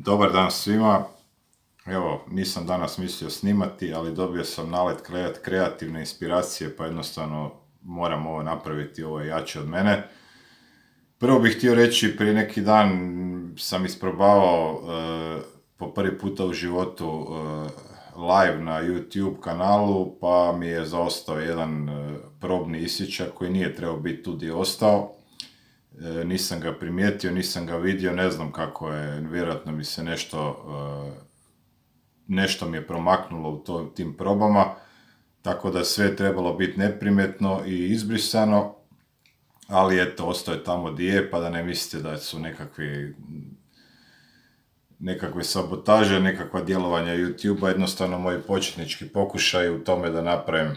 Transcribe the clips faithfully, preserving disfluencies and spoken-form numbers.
Dobar dan svima. Evo, nisam danas mislio snimati, ali dobio sam nalet kreativne inspiracije, pa jednostavno moram ovo napraviti, ovo je jače od mene. Prvo bih htio reći, prije neki dan sam isprobavao uh, po prvi puta u životu uh, live na YouTube kanalu, pa mi je zaostao jedan uh, probni isječak koji nije trebao biti tu gdje ostao. E, nisam ga primijetio, nisam ga vidio, ne znam kako je, vjerojatno mi se nešto, e, nešto mi je promaknulo u to, tim probama, tako da sve je trebalo biti neprimjetno i izbrisano, ali eto, ostao je tamo gdje je, pa da ne mislite da su nekakvi, nekakve sabotaže, nekakva djelovanja YouTube-a, jednostavno moji početnički pokušaj u tome da napravim,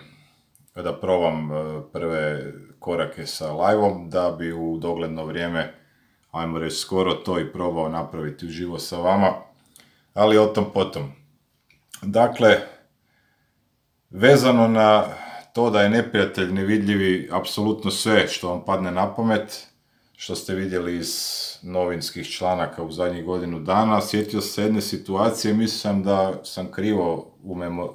da probam prve korake sa live-om, da bi u dogledno vrijeme, ajmo reći skoro, to i probao napraviti uživo sa vama, ali o tom potom. Dakle, vezano na to da je neprijatelj nevidljivi apsolutno sve što vam padne na pamet, što ste vidjeli iz novinskih članaka u zadnjih godinu dana, sjetio se jedne situacije, mislim da sam krivo,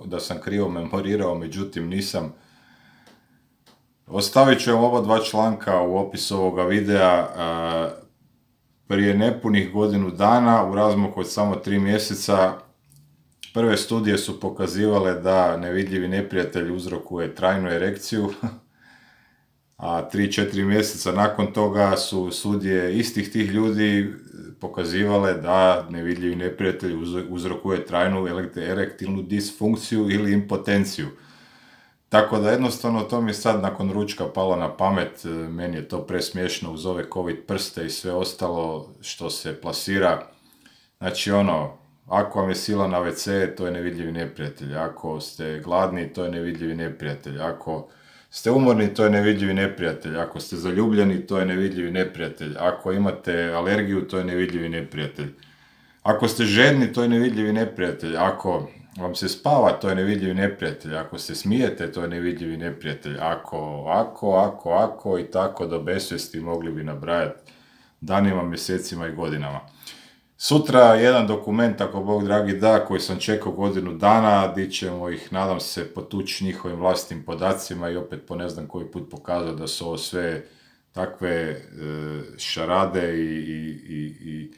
da sam krivo memorirao, međutim nisam. Ostavit ću vam oba dva članka u opisu ovoga videa. Prije nepunih godinu dana, u razmaku od samo tri mjeseca, prve studije su pokazivale da nevidljivi neprijatelj uzrokuje trajnu erekciju, a tri četiri mjeseca nakon toga su studije istih tih ljudi pokazivale da nevidljivi neprijatelj uzrokuje trajnu erektilnu disfunkciju ili impotenciju. Tako da jednostavno to mi je sad nakon ručka palo na pamet, meni je to presmiješno uz ove covid prste i sve ostalo što se plasira. Znači ono, ako vam je sila na ve ce, to je nevidljivi neprijatelj, ako ste gladni, to je nevidljivi neprijatelj, ako ste umorni, to je nevidljivi neprijatelj, ako ste zaljubljeni, to je nevidljivi neprijatelj, ako imate alergiju, to je nevidljivi neprijatelj, ako ste žedni, to je nevidljivi neprijatelj, ako vam se spava, to je nevidljivi neprijatelj, ako se smijete, to je nevidljivi neprijatelj, ako, ako, ako, ako i tako do besvijesti mogli bi nabrajati danima, mjesecima i godinama. Sutra jedan dokument, ako Bog dragi da, koji sam čekao godinu dana, di ćemo ih, nadam se, potući njihovim vlastnim podacima i opet po ne znam koji put pokazati da su ovo sve takve e, šarade i, i, i,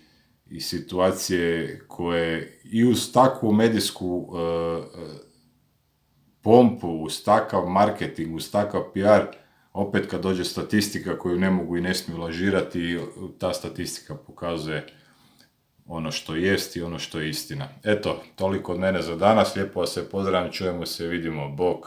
i situacije koje i uz takvu medijsku uh, pompu, uz takav marketing, uz takav pi ar, opet kad dođe statistika koju ne mogu i ne smiju lažirati, ta statistika pokazuje ono što jest i ono što je istina. Eto, toliko od mene za danas, lijepo vas se pozdravljam, čujemo se, vidimo, bok.